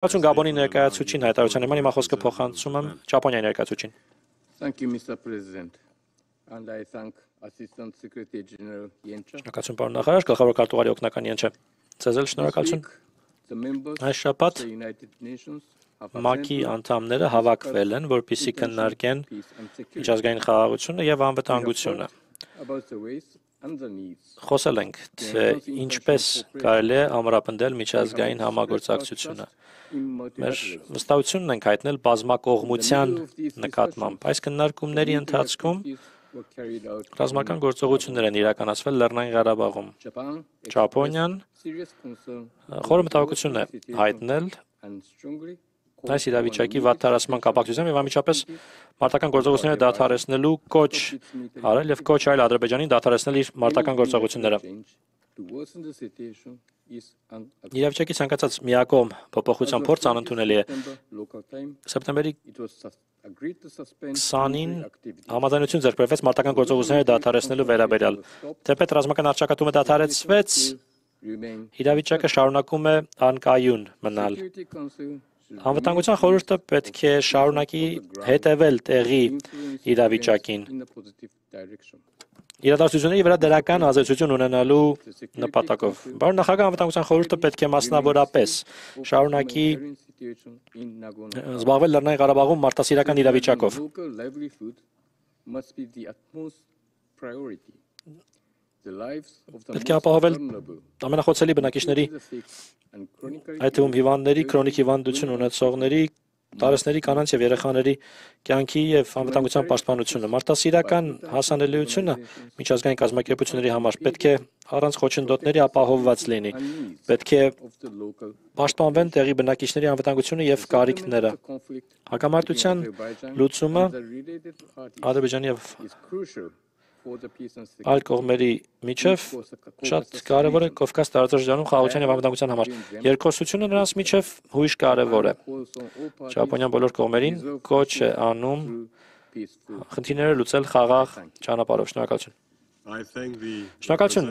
Շնորհակալություն Գաբոնի ներկայացուցիչին հայտարարության նման հիմա խոսքը փոխանցում եմ Ճապոնիայի ներկայացուցիչին։ Thank you, Mr. President. And I thank Assistant Secretary General Yencha. Շնորհակալություն պարոն նախարար, գլխավոր քարտուղարի օգնական Ենչը։ Ձեզ էլ շնորհակալություն։ Այս շաբաթ ՄԱԿ-ի անդամները հավաքվել են, որպեսզի քննարկեն միջազգային խաղաղությունը եւ անվտանգությունը։ Խոսել ենք, թե ինչպես կարելի է ամրապնդել միջազգային համագործակցությունը։ Մեր վստահությունն ենք հայտնել բազմակողմության նկատմամբ։ Այս քննարկումների ընթացքում ռազմական գործողություններ են իրականացվել Լեռնային Ղարաբաղում։ Ճապոնիան խորը մտահոգություն է հայտնել այս իրավիճակի վատթարացման կապակցությամբ եւ անմիջապես մարտական գործողությունները դադարեցնելու կոչ արել եւ կոչ արել Ադրբեջանին դադարեցնել իր մարտական գործողությունները։ Իրավիճակի ցանկացած միակողմ փոփոխության փորձ անընդունելի է։ Սեպտեմբերի 20-ին համաձայնություն ձեռք բերվեց մարտական գործողությունները դադարեցնելու վերաբերյալ։ Թեպետ ռազմական առճակատումը դադարեցվեց, իրավիճակը շարունակում է անկայուն մնալ։ Անվտանգության խորհուրդը պետք է շարունակի հետևել տեղի իրավիճակին։ Իրադարձությունների վրա դրական ազդեցություն ունենալու նպատակով։ Պարոն նախագահ, անվտանգության խորհուրդը պետք է մասնավորապես շարունակի զբաղվել Լեռնային Ղարաբաղում մարդասիրական իրավիճակով։ Պետք է ապահովել ամենախոցելի բնակիչների, այդ թվում հիվանդների, քրոնիկ հիվանդություն ունեցողների, տարեցների կանանց եւ երեխաների կյանքի եւ անվտանգության պաշտպանությունը։ Մարդասիրական հասանելիությունը միջազգային կազմակերպությունների համար պետք է առանց խոչընդոտների ապահովված լինի։ Պետք է պաշտպանվեն տեղի բնակիչների անվտանգությունը եւ կարիքները։ Հակամարտության լուծումը Ադրբեջանի եւ այլ կողմերի միջև շատ կարևոր է Կովկաս տարածաշրջանում խաղաղության եւ անվտանգության համար։ Երկխոսությունը նրանց միջև հույժ կարևոր է։ Ճապոնիան բոլոր կողմերին կոչ է անում խնդիրները լուծել խաղաղ ճանապարհով։ Շնորհակալություն։ Շնորհակալություն